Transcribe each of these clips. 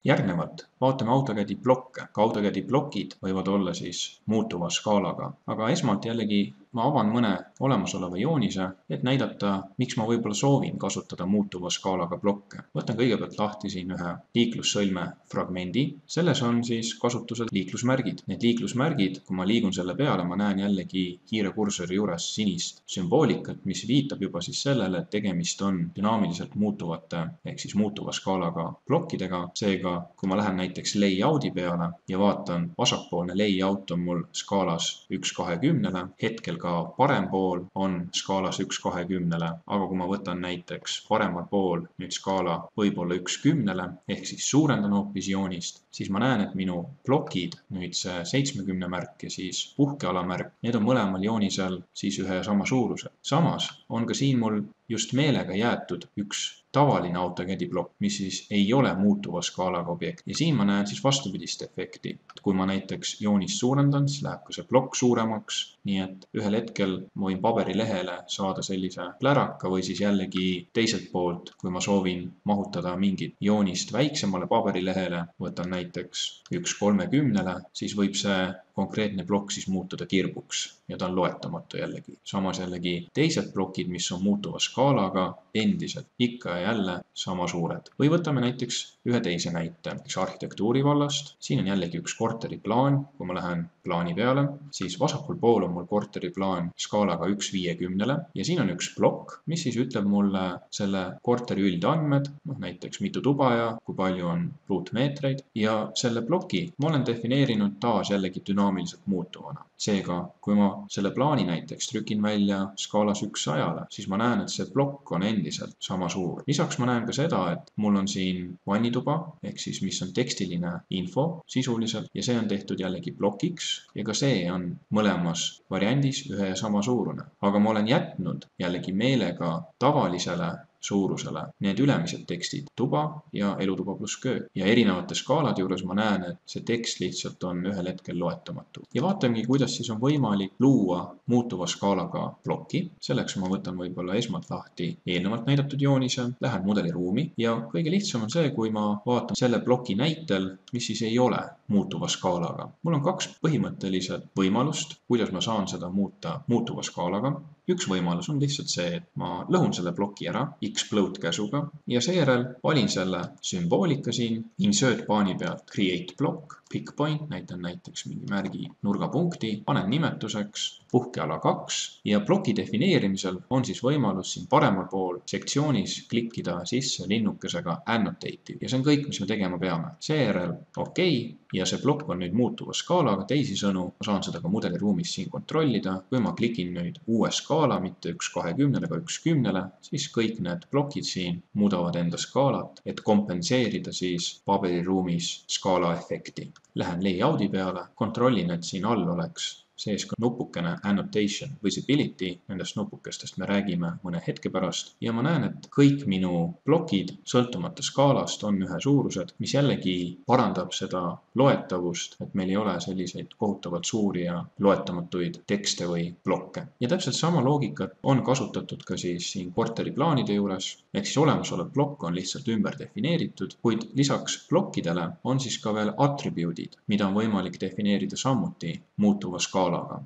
Järgnevalt vaatame AutoCAD-i blokke. Ka AutoCAD-i blokid võivad olla siis muutuva skaalaga. Aga esmalt jällegi ma avan mõne olemasoleva joonise, et näidata, miks ma võib-olla soovin kasutada muutuva skaalaga blokke. Võtan kõigepealt lahti siin ühe liiklussõlme fragmendi. Selles on siis kasutusel liiklusmärgid. Need liiklusmärgid, kui ma liigun selle peale, ma näen jällegi kiire kursori juures sinist sümboolikat, mis viitab juba siis sellele, et tegemist on dünaamiliselt muutuvate ehk siis muutuva skaalaga blokkidega. Seega, kui ma lähen näiteks layouti peale ja vaatan, vasakpoolne layout on mul skaalas 1/20, hetkel ka parem pool on skaalas 1/20, aga kui ma võtan näiteks paremal pool nüüd skaala võib-olla 1/10, ehk siis suurendan hoopis joonist, siis ma näen, et minu plokid, nüüd see 70 märk ja siis puhkeala märk, need on mõlemal joonisel siis ühe ja sama suuruse. Samas on ka siin mul just meelega jäetud üks tavaline AutoCAD-i plokk, mis siis ei ole muutuva skaalaga objekt. Ja siin ma näen siis vastupidist efekti. Kui ma näiteks joonist suurendan, siis läheb ka see plokk suuremaks, nii et ühel hetkel ma võin paberilehele saada sellise pläraka või siis jällegi teiselt poolt, kui ma soovin mahutada mingit joonist väiksemale paberilehele, võtan näiteks 1/30, siis võib see konkreetne plokk siis muutuda kirbuks ja ta on loetamatu jällegi. Samas jällegi teised plokid, mis on muutuva skaalaga, endiselt ikka ja jälle sama suured. Või võtame näiteks ühe teise näite, arhitektuuri vallast. Siin on jällegi üks korteriplaan. Kui ma lähen plaani peale, siis vasakul pool on mul korteriplaan skaalaga 1/50 ja siin on üks plokk, mis siis ütleb mulle selle korteri üldandmed, näiteks mitu tuba ja kui palju on ruutmeetreid, ja selle ploki ma olen defineerinud taas jällegi dünaamiliselt muutuvana. Seega, kui ma selle plaani näiteks trükin välja skaalas 1/100, siis ma näen, et see plokk on endiselt sama suur. Lisaks ma näen ka seda, et mul on siin vannituba, ehk siis mis on tekstiline info sisuliselt ja see on tehtud jällegi plokiks ja ka see on mõlemas variandis ühe ja sama suurune. Aga ma olen jätnud jällegi meelega tavalisele suurusele need ülemised tekstid, tuba ja elutuba pluss köö. Ja erinevate skaalade juures ma näen, et see tekst lihtsalt on ühel hetkel loetamatu. Ja vaatamegi, kuidas siis on võimalik luua muutuva skaalaga plokki. Selleks ma võtan võib-olla esmalt lahti eelnevalt näidatud joonise, lähen mudeliruumi ja kõige lihtsam on see, kui ma vaatan selle ploki näitel, mis siis ei ole muutuva skaalaga. Mul on kaks põhimõtteliselt võimalust, kuidas ma saan seda muuta muutuva skaalaga. Üks võimalus on lihtsalt see, et ma lõhun selle ploki ära Xplode käsuga ja seejärel valin selle sümboolika siin, insert paani pealt create block, pick point, näitan näiteks mingi märgi nurgapunkti, panen nimetuseks puhkeala 2 ja ploki defineerimisel on siis võimalus siin paremal pool sektsioonis klikkida sisse linnukesega annotative ja see on kõik, mis me tegema peame. Seejärel OK ja see plokk on nüüd muutuva skaalaga, teisisõnu, ma saan seda ka mudeliruumis siin kontrollida. Kui ma klikin nüüd uue skaala, mitte 1/20, aga 1/10, siis kõik need plokid siin muudavad enda skaalat, et kompenseerida siis paberiruumis skaala efekti. Lähen layouti peale, kontrollin, et siin all oleks sees ka nupukene annotation visibility, nendest nupukestest me räägime mõne hetke pärast ja ma näen, et kõik minu plokid sõltumata skaalast on ühesuurused, mis jällegi parandab seda loetavust, et meil ei ole selliseid kohutavalt suuri ja loetamatuid tekste või blokke. Ja täpselt sama loogikat on kasutatud ka siis siin korteriplaanide juures, ehk siis olemasolev plokk on lihtsalt ümber defineeritud, kuid lisaks plokkidele on siis ka veel attribute'id, mida on võimalik defineerida samuti muutuva skaalaga.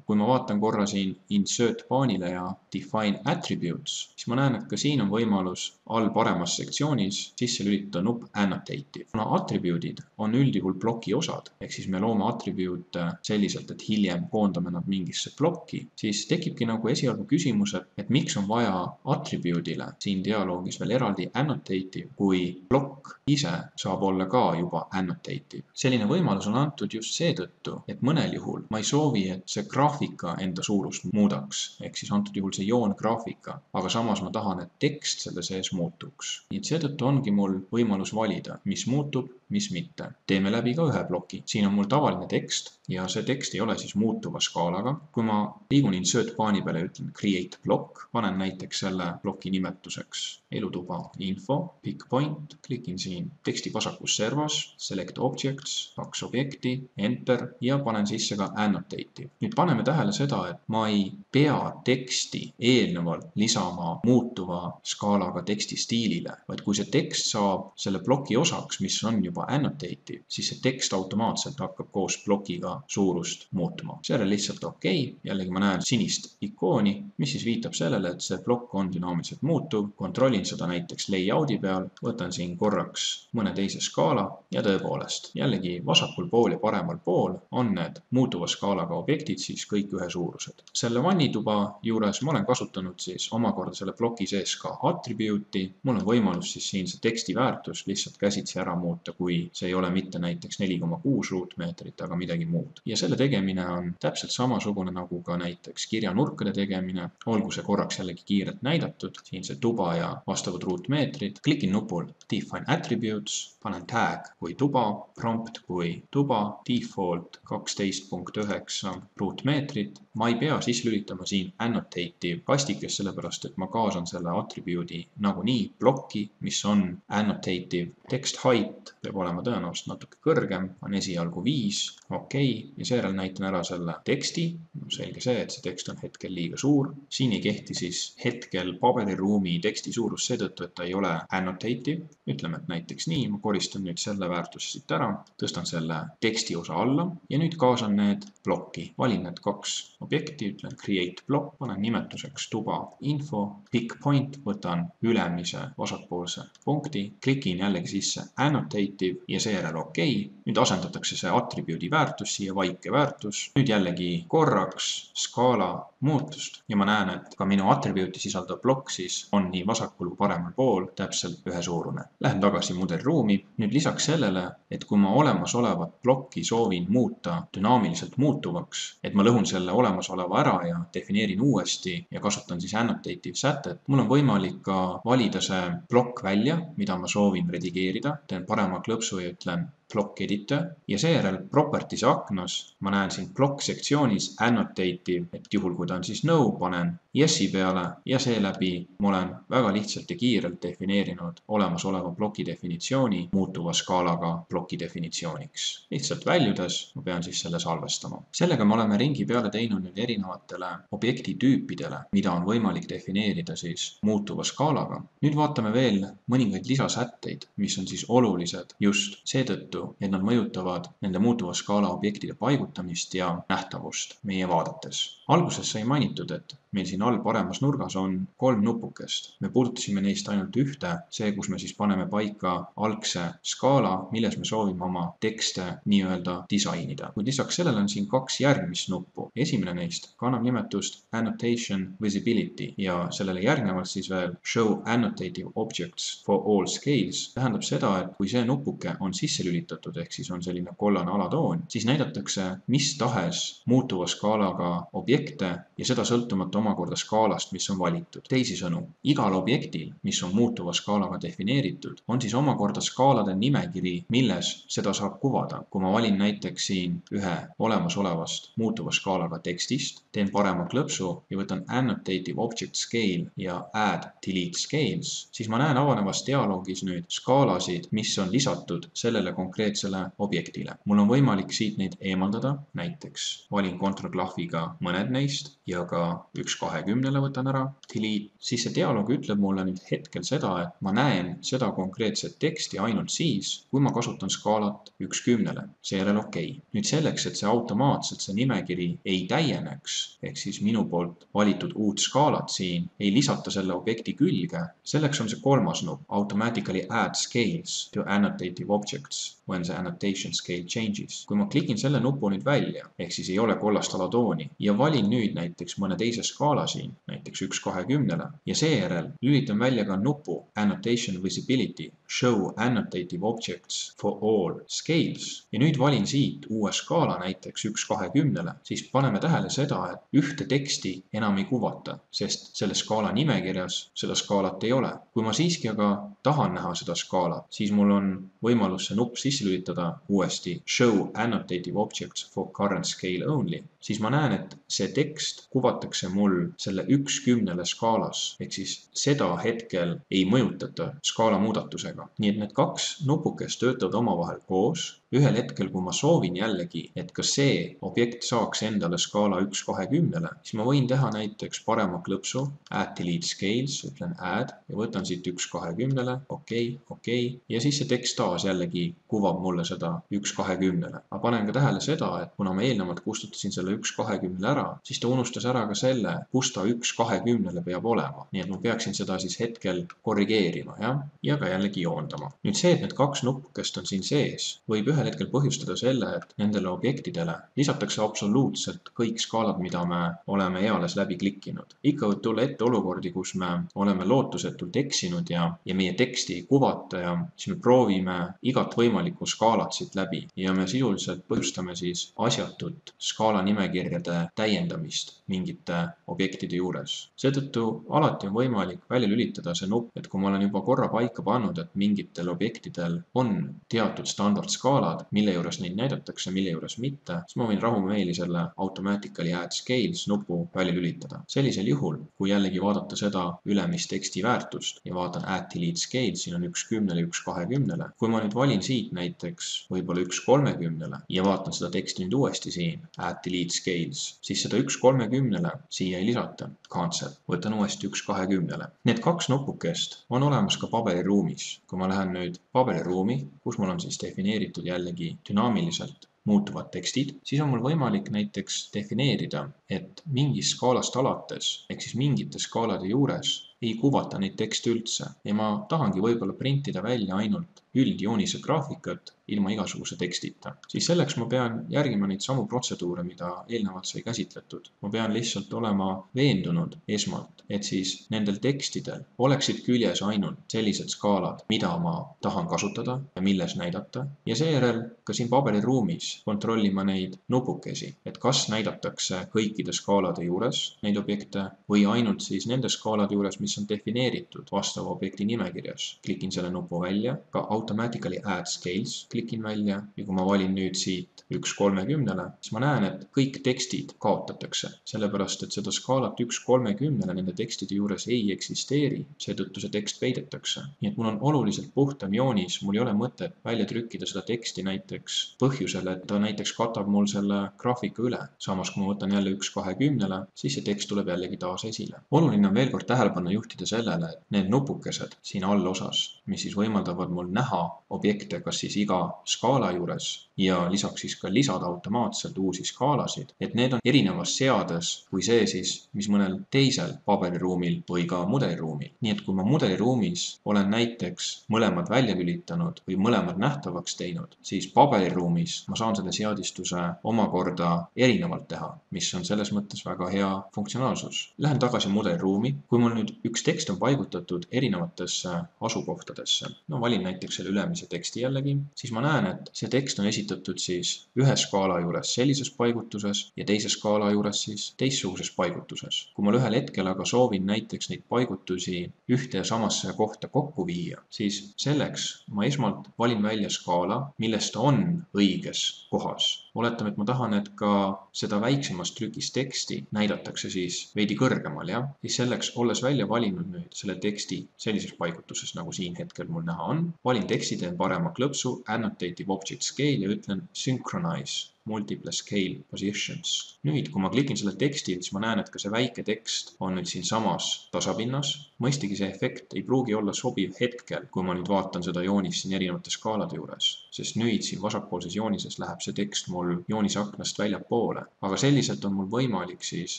Kui ma vaatan korra siin insert paanile ja define attributes, siis ma näen, et ka siin on võimalus all paremas sektsioonis sisse lülitada nupp annotative. Kuna attribute'id on üldjuhul ploki osad, ehk siis me loome attribute selliselt, et hiljem koondame nad mingisse plokki, siis tekibki nagu esialgu küsimus, et miks on vaja attribute'ile siin dialoogis veel eraldi annotative, kui plokk ise saab olla ka juba annotative. Selline võimalus on antud just seetõttu, et mõnel juhul ma ei soovi, et see graafika enda suurust muudaks, ehk siis antud juhul see joongraafika, aga samas ma tahan, et tekst selle sees muutuks. Nii et seetõttu ongi mul võimalus valida, mis muutub, mis mitte. Teeme läbi ka ühe ploki. Siin on mul tavaline tekst ja see tekst ei ole siis muutuva skaalaga. Kui ma liigun insert paani peale ja ütlen create block, panen näiteks selle ploki nimetuseks elutuba info, pick point, klikin siin teksti vasakus servas, select objects, 2 objekti, enter ja panen sisse ka annotative. nüüd paneme tähele seda, et ma ei pea teksti eelnevalt lisama muutuva skaalaga teksti stiilile, vaid kui see tekst saab selle ploki osaks, mis on juba annotative, siis see tekst automaatselt hakkab koos plokiga suurust muutuma. Seejärel lihtsalt OK, jällegi ma näen sinist ikooni, mis siis viitab sellele, et see plokk on dünaamiliselt muutuv, kontrollin seda näiteks layout'i peal, võtan siin korraks mõne teise skaala ja tõepoolest, jällegi vasakul pool ja paremal pool on need muutuva skaalaga objektid siis kõik ühesuurused. Selle vannituba juures ma olen kasutanud siis omakorda selle ploki sees ka attribute'i. Mul on võimalus siis siin see teksti väärtus lihtsalt käsitsi ära muuta, kui see ei ole mitte näiteks 4,6 ruutmeetrit, aga midagi muud. Ja selle tegemine on täpselt samasugune nagu ka näiteks kirjanurkade tegemine. Olgu see korraks jällegi kiirelt näidatud, siin see tuba ja vastavad ruutmeetrid. Klikin nupul Define Attributes, panen tag kui tuba, prompt kui tuba, default 12.9 ruutmeetrit. Ma ei pea sisse lülitama siin annotative kastikest, sellepärast et ma kaasan selle attribute'i nagunii plokki, mis on annotative. Text height peab olema tõenäoliselt natuke kõrgem, on esialgu 5, OK, ja seejärel näitan ära selle teksti. Selge see, et see tekst on hetkel liiga suur. Siin ei kehti siis hetkel paberiruumi teksti suurus seetõttu, et ta ei ole annotative. Ütleme, et näiteks nii, ma koristan nüüd selle väärtuse siit ära, tõstan selle teksti osa alla ja nüüd kaasan need plokki. Valin need 2 objekti, ütlen create block, panen nimetuseks tuba info, pick point, võtan ülemise vasakpoolse punkti, klikin jällegi sisse annotative ja seejärel OK. Nüüd asendatakse see attribute'i väärtus siia vaike väärtus. Nüüd jällegi korraks skaala muutust ja ma näen, et ka minu attribute'i sisaldav plokk siis on nii vasakul kui paremal pool täpselt ühesuurune. Lähen tagasi mudeliruumi. Nüüd lisaks sellele, et kui ma olemasolevat plokki soovin muuta dünaamiliselt muutuvaks, et ma lõhun selle olemasoleva ära ja defineerin uuesti ja kasutan siis annotative sätet, mul on võimalik ka valida see plokk välja, mida ma soovin redigeerida. Teen parema klõpsu ja ütlen block editor ja seejärel properties aknas ma näen siin block sektsioonis annotative, et juhul kui ta on siis no, panen yes'i peale ja seeläbi ma olen väga lihtsalt ja kiirelt defineerinud olemasoleva ploki definitsiooni muutuva skaalaga ploki definitsiooniks. Lihtsalt väljudes ma pean siis selle salvestama. Sellega me oleme ringi peale teinud nüüd erinevatele objekti tüüpidele, mida on võimalik defineerida siis muutuva skaalaga. Nüüd vaatame veel mõningaid lisasätteid, mis on siis olulised just seetõttu, et nad mõjutavad nende muutuva skaala objektide paigutamist ja nähtavust meie vaadetes. Alguses sai mainitud, et meil siin all paremas nurgas on 3 nupukest. Me puudutasime neist ainult ühte, see, kus me siis paneme paika algse skaala, milles me soovime oma tekste nii-öelda disainida. Kuid lisaks sellele on siin 2 järgmist nuppu. Esimene neist kannab nimetust Annotation Visibility ja sellele järgnevalt siis veel Show Annotative Objects for All Scales. Tähendab seda, et kui see nupuke on sisse lülitatud, ehk siis on selline kollane alatoon, siis näidatakse mis tahes muutuva skaalaga objekte ja seda sõltumata omakorda skaalast, mis on valitud. Teisisõnu, igal objektil, mis on muutuva skaalaga defineeritud, on siis omakorda skaalade nimekiri, milles seda saab kuvada. Kui ma valin näiteks siin ühe olemasolevast muutuva skaalaga tekstist, teen parema klõpsu ja võtan Annotative Object Scale ja Add Delete Scales, siis ma näen avanevas dialoogis nüüd skaalasid, mis on lisatud sellele konkreetsele objektile. Mul on võimalik siit neid eemaldada, näiteks valin Ctrl+-klahviga mõned neist ja ka 1/20 võtan ära, delete, siis see dialoog ütleb mulle nüüd hetkel seda, et ma näen seda konkreetset teksti ainult siis, kui ma kasutan skaalat 1/10, seejärel OK. Nüüd selleks, et see automaatselt see nimekiri ei täieneks, ehk siis minu poolt valitud uut skaalat siin ei lisata selle objekti külge, selleks on see 3. nupp, Automatically Add Scales to Annotative Objects when the annotation scale changes. Kui ma klikin selle nupu nüüd välja, ehk siis ei ole kollast alatooni ja valin nüüd näiteks mõne teise skaala siin, näiteks 1/20 ja seejärel lülitan välja ka nupu Annotation Visibility, Show Annotative Objects for All Scales ja nüüd valin siit uue skaala näiteks 1/20, siis paneme tähele seda, et ühte teksti enam ei kuvata, sest selle skaala nimekirjas seda skaalat ei ole. Kui ma siiski aga tahan näha seda skaalat, siis mul on võimalus see nupp sisse sisse lülitada uuesti show annotative objects for current scale only, siis ma näen, et see tekst kuvatakse mul selle 1/10 skaalas, ehk siis seda hetkel ei mõjutata skaala muudatusega. Nii et need kaks nupukest töötavad omavahel koos. Ühel hetkel, kui ma soovin jällegi, et ka see objekt saaks endale skaala 1/20, siis ma võin teha näiteks parema klõpsu, add delete scales, ütlen add ja võtan siit 1/20, okei, ja siis see tekst taas jällegi kuvab mulle seda 1/20. Ma panen ka tähele seda, et kuna ma eelnevalt kustutasin selle 1/20 ära, siis ta unustas ära ka selle, kus ta 1/20 peab olema. Nii et ma peaksin seda siis hetkel korrigeerima, ja ka jällegi joondama. Nüüd see, et need kaks nupukest on siin sees, võib ühel hetkel põhjustada selle, et nendele objektidele lisatakse absoluutselt kõik skaalad, mida me oleme eales läbi klikkinud. Ikka võib tulla ette olukordi, kus me oleme lootusetult eksinud ja meie teksti ei kuvata ja siis me proovime igat võimalikku skaalat siit läbi ja me sisuliselt põhjustame siis asjatut skaala nimekirjade täiendamist mingite objektide juures. Seetõttu alati on võimalik välja lülitada see nupp, et kui ma olen juba korra paika pannud, et mingitel objektidel on teatud standardskaalad, mille juures neid näidatakse, mille juures mitte, siis ma võin rahumeeli selle automatically add scales nupu välja lülitada. Sellisel juhul, kui jällegi vaadata seda ülemist teksti väärtust ja vaatan add delete scales, siin on 1/10, 1/20. Kui ma nüüd valin siit näiteks võib-olla 1/30 ja vaatan seda teksti nüüd uuesti siin, add delete scales, siis seda 1/30 siia ei lisata, cancel, võtan uuesti 1/20. Need kaks nupukest on olemas ka paberiruumis. Kui ma lähen nüüd paberiruumi, kus mul on siis defineeritud jällegi dünaamiliselt muutuvad tekstid, siis on mul võimalik näiteks defineerida, et mingist skaalast alates, ehk siis mingite skaalade juures ei kuvata neid tekste üldse ja ma tahangi võib-olla printida välja ainult üldjoonise graafikat ilma igasuguse tekstita. Siis selleks ma pean järgima neid samu protseduure, mida eelnevalt sai käsitletud. Ma pean lihtsalt olema veendunud esmalt, et siis nendel tekstidel oleksid küljes ainult sellised skaalad, mida ma tahan kasutada ja milles näidata. Ja seejärel ka siin paberiruumis kontrollima neid nupukesi, et kas näidatakse kõikide skaalade juures neid objekte või ainult siis nende skaalade juures, mis on defineeritud vastava objekti nimekirjas. Klikin selle nupu välja, ka automatically add scales klikin välja ja kui ma valin nüüd siit 1/30, siis ma näen, et kõik tekstid kaotatakse, sellepärast et seda skaalat 1/30 nende tekstide juures ei eksisteeri, seetõttu see tekst peidetakse. Nii et mul on oluliselt puhtam joonis, mul ei ole mõtet välja trükkida seda teksti näiteks põhjusel, et ta näiteks katab mul selle graafika üle. Samas, kui ma võtan jälle 1/20, siis see tekst tuleb jällegi taas esile. Oluline on veel kord tähelepanu juhtida sellele, et need nupukesed siin allosas, mis siis võimaldavad mul näha objekte kas siis iga skaala juures ja lisaks siis ka lisada automaatselt uusi skaalasid, et need on erinevas seades kui see siis, mis mõnel teisel paberiruumil või ka mudeliruumil. Nii et kui ma mudeliruumis olen näiteks mõlemad välja lülitanud või mõlemad nähtavaks teinud, siis paberiruumis ma saan selle seadistuse omakorda erinevalt teha, mis on selles mõttes väga hea funktsionaalsus. Lähen tagasi mudeliruumi. Kui mul nüüd üks tekst on paigutatud erinevatesse asukohtadesse, no valin näiteks selle ülemise teksti jällegi, siis ma näen, et see tekst on esitatud siis ühe skaala juures sellises paigutuses ja teise skaala juures siis teistsuguses paigutuses. Kui ma ühel hetkel aga soovin näiteks neid paigutusi ühte ja samasse kohta kokku viia, siis selleks ma esmalt valin välja skaala, millest ta on õiges kohas. Oletame, et ma tahan, et ka seda väiksemast trükist teksti näidatakse siis veidi kõrgemal, siis selleks, olles välja valinud nüüd selle teksti sellises paigutuses, nagu siin hetkel mul näha on, valin teksti, teen parema klõpsu, annotative object scale ja ütlen synchronize multiple scale positions. Nüüd, kui ma klikin selle teksti, siis ma näen, et ka see väike tekst on nüüd siin samas tasapinnas. Mõistagi see efekt ei pruugi olla sobiv hetkel, kui ma nüüd vaatan seda joonist siin erinevate skaalade juures, sest nüüd siin vasakpoolses joonises läheb see tekst mul joonise aknast väljapoole. Aga selliselt on mul võimalik siis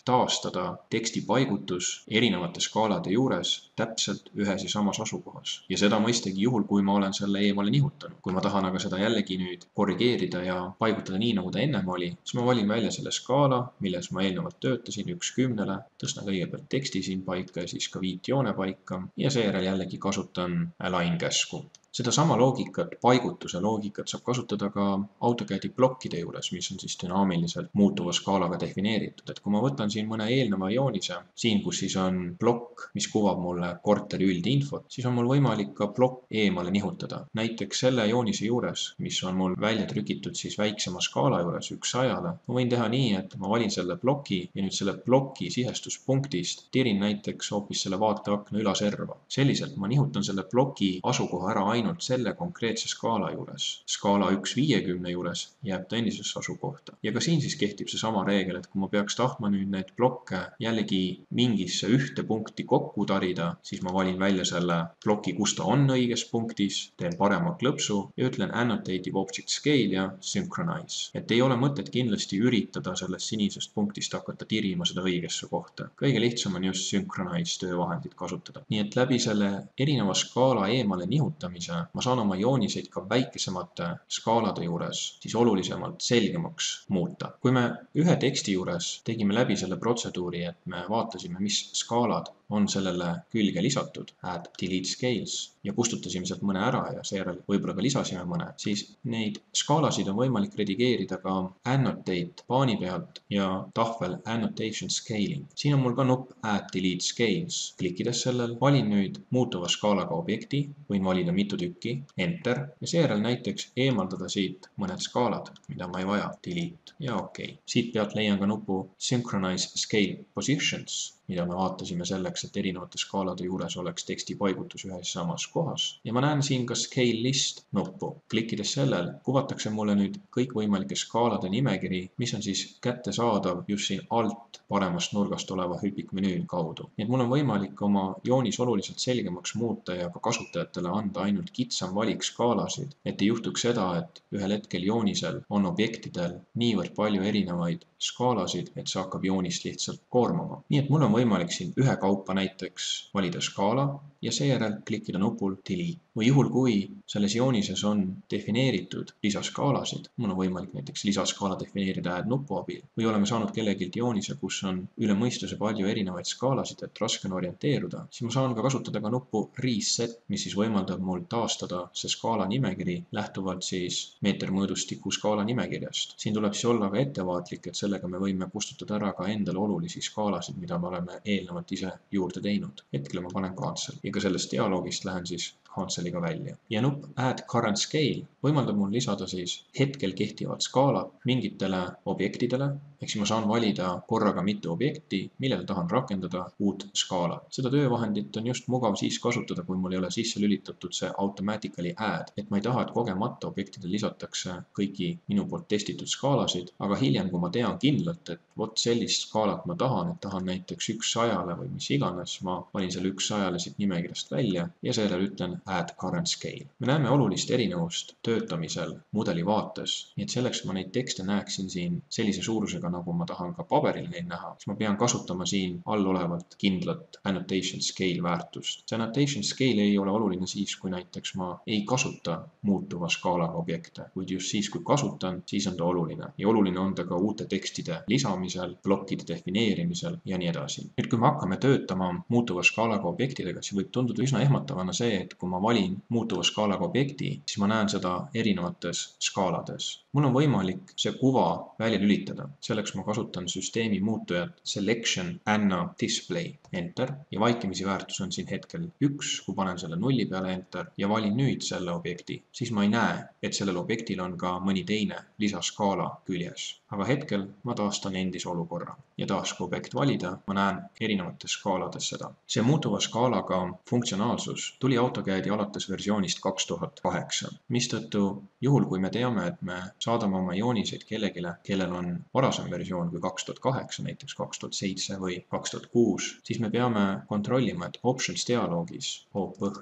taastada teksti paigutus erinevate skaalade juures täpselt ühes ja samas asukohas. Ja seda mõistagi juhul, kui ma olen selle eemale nihutanud. Kui ma tahan aga seda jällegi nüüd korrigeerida ja paigutada nii, nagu ta ennem oli, siis ma valin välja selle skaala, milles ma eelnevalt töötasin 1/10, tõstan kõigepealt teksti siin paika ja siis ka viitjoone paika ja seejärel jällegi kasutan align käsku. Seda sama loogikat, paigutuse loogikat saab kasutada ka AutoCAD-i plokkide juures, mis on siis dünaamiliselt muutuva skaalaga defineeritud. Et kui ma võtan siin mõne eelneva joonise, siin kus siis on plokk, mis kuvab mulle korteri üldinfot, siis on mul võimalik ka plokk eemale nihutada. Näiteks selle joonise juures, mis on mul välja trükitud siis väiksema skaala juures 1:100, ma võin teha nii, et ma valin selle ploki ja nüüd selle ploki sihestuspunktist tirin näiteks hoopis selle vaateakna ülaserva. Selliselt ma nihutan selle ploki asukoha ära ainult selle konkreetse skaala juures. Skaala 1:50 juures jääb ta endisesse asukohta. Ja ka siin siis kehtib see sama reegel, et kui ma peaks tahtma nüüd neid blokke jällegi mingisse ühte punkti kokku tarida, siis ma valin välja selle ploki, kus ta on õiges punktis, teen parema klõpsu ja ütlen Annotative Object Scale ja Synchronize. Et ei ole mõtet kindlasti üritada sellest sinisest punktist hakata tirima seda õigesse kohta. Kõige lihtsam on just Synchronize töövahendit kasutada. Nii et läbi selle erineva skaala eemale nihutamise ma saan oma jooniseid ka väikesemate skaalade juures siis olulisemalt selgemaks muuta. Kui me ühe teksti juures tegime läbi selle protseduuri, et me vaatasime, mis skaalad on sellele külge lisatud, add, delete scales, ja kustutasime sealt mõne ära ja seejärel võib-olla ka lisasime mõne, siis neid skaalasid on võimalik redigeerida ka annotate paani pealt ja tahvel annotation scaling. Siin on mul ka nupp add, delete scales. Klikkides sellel valin nüüd muutuva skaalaga objekti, võin valida mitu tükki, enter, ja seejärel näiteks eemaldada siit mõned skaalad, mida ma ei vaja, delete ja okei. Siit pealt leian ka nupu synchronize scale positions, mida me vaatasime selleks, et erinevate skaalade juures oleks teksti paigutus ühes samas kohas. Ja ma näen siin ka scale list nuppu. Klikkides sellel kuvatakse mulle nüüd kõikvõimalike skaalade nimekiri, mis on siis kättesaadav just siin alt paremast nurgast oleva hüpikmenüü kaudu. Nii et mul on võimalik oma joonis oluliselt selgemaks muuta ja ka kasutajatele anda ainult kitsam valik skaalasid, et ei juhtuks seda, et ühel hetkel joonisel on objektidel niivõrd palju erinevaid skaalasid, et see hakkab joonist lihtsalt koormama. Nii et mul on võimalik siin ühekaupa näiteks valida skaala ja seejärel klikkida nupul delete. Või juhul, kui selles joonises on defineeritud lisaskaalasid, mul on võimalik näiteks lisaskaala defineerida add nupu abil, või oleme saanud kellegilt joonise, kus on üle mõistuse palju erinevaid skaalasid, et raske on orienteeruda, siis ma saan ka kasutada ka nuppu reset, mis siis võimaldab mul taastada see skaala nimekiri lähtuvalt siis meetermõõdustiku skaala nimekirjast. Siin tuleb siis olla ka ettevaatlik, et sellega me võime kustutada ära ka endale olulisi skaalasid, mida me oleme eelnevalt ise juurde teinud. Hetkel ma panen cancel ja ka sellest dialoogist lähen siis canceliga välja. Ja nupp add current scale võimaldab mul lisada siis hetkel kehtivad skaalad mingitele objektidele, ehk siis ma saan valida korraga mitu objekti, millele tahan rakendada uut skaalat. Seda töövahendit on just mugav siis kasutada, kui mul ei ole sisse lülitatud see automatically add, et ma ei taha, et kogemata objektidele lisatakse kõiki minu poolt testitud skaalasid, aga hiljem, kui ma tean kindlalt, et vot sellist skaalat ma tahan, et tahan näiteks 1:100 või mis iganes, ma valin selle 1:100 siit nimekirjast välja ja seejärel ütlen add current scale. Me näeme olulist erinevust töötamisel mudeli vaates, nii et selleks ma neid tekste näeksin siin sellise suurusega, nagu ma tahan ka paberil neid näha, siis ma pean kasutama siin all olevat kindlat annotation scale väärtust. See annotation scale ei ole oluline siis, kui näiteks ma ei kasuta muutuva skaalaga objekte, kuid just siis, kui kasutan, siis on ta oluline. Ja oluline on ta ka uute tekstide lisamisel, plokkide defineerimisel ja nii edasi. Nüüd, kui me hakkame töötama muutuva skaalaga objektidega, siis võib tunduda üsna ehmatavana see, et kui ma valin muutuva skaalaga objekti, siis ma näen seda erinevates skaalades. Mul on võimalik see kuva välja lülitada. Selleks ma kasutan süsteemi muutujat selection anna display, enter, ja vaikimisi väärtus on siin hetkel 1, kui panen selle 0 peale enter ja valin nüüd selle objekti, siis ma ei näe, et sellel objektil on ka mõni teine lisaskaala küljes. Aga hetkel ma taastan endise olukorra ja taas, kui objekt valida, ma näen erinevates skaalades seda. See muutuva skaalaga funktsionaalsus tuli AutoCAD-i alates versioonist 2008, mistõttu juhul, kui me teame, et me saadame oma jooniseid kellegile, kellel on varasem versioon kui 2008, näiteks 2007 või 2006, siis me peame kontrollima, et options dialoogis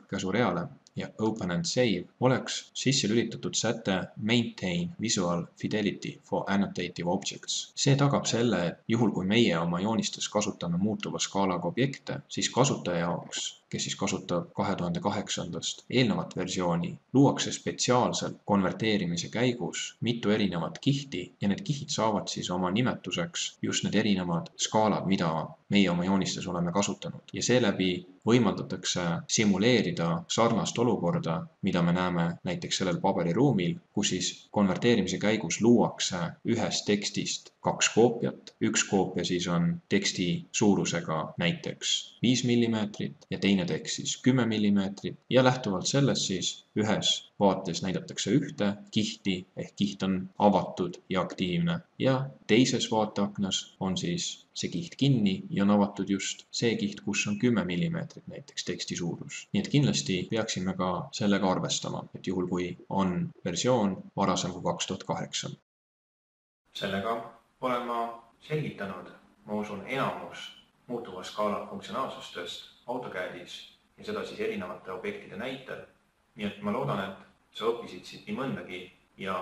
käsureale ja Open and Save oleks sisse lülitatud säte Maintain Visual Fidelity for Annotative Objects. See tagab selle, et juhul kui meie oma joonistes kasutame muutuva skaalaga objekte, siis kasutaja jaoks, kes siis kasutab 2008. eelnevat versiooni, luuakse spetsiaalselt konverteerimise käigus mitu erinevat kihti ja need kihid saavad siis oma nimetuseks just need erinevad skaalad, mida meie oma joonistes oleme kasutanud. Ja seeläbi võimaldatakse simuleerida sarnast olukorda, mida me näeme näiteks sellel paberiruumil, kus siis konverteerimise käigus luuakse ühest tekstist 2 koopiat. Üks koopia siis on teksti suurusega näiteks 5 mm ja teine tekst siis 10 mm ja lähtuvalt sellest siis ühes vaates näidatakse ühte kihti ehk kiht on avatud ja aktiivne ja teises vaateaknas on siis see kiht kinni ja on avatud just see kiht, kus on 10 mm näiteks teksti suurus. Nii et kindlasti peaksime ka sellega arvestama, et juhul kui on versioon varasem kui 2008. Sellega olen ma selgitanud, ma usun, enamus muutuva skaala funktsionaalsustest AutoCADis ja seda siis erinevate objektide näitel. Nii et ma loodan, et sa õppisid siit nii mõndagi ja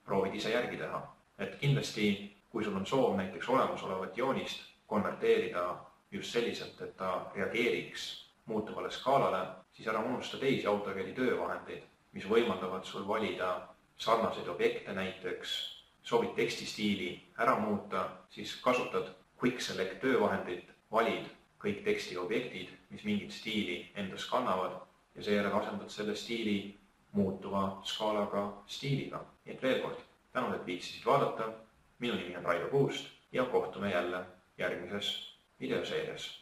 proovid ise järgi teha. Et kindlasti, kui sul on soov näiteks olemasolevat joonist konverteerida just selliselt, et ta reageeriks muutuvale skaalale, siis ära unusta teisi AutoCADi töövahendeid, mis võimaldavad sul valida sarnaseid objekte näiteks, soovid tekstistiili ära muuta, siis kasutad Quick Select töövahendit, valid kõik tekstiobjektid, mis mingit stiili endas kannavad ja seejärel asendad selle stiili muutuva skaalaga stiiliga. Nii et veel kord, tänud, et viitsisid vaadata. Minu nimi on Raivo Puust ja kohtume jälle järgmises videoseerias.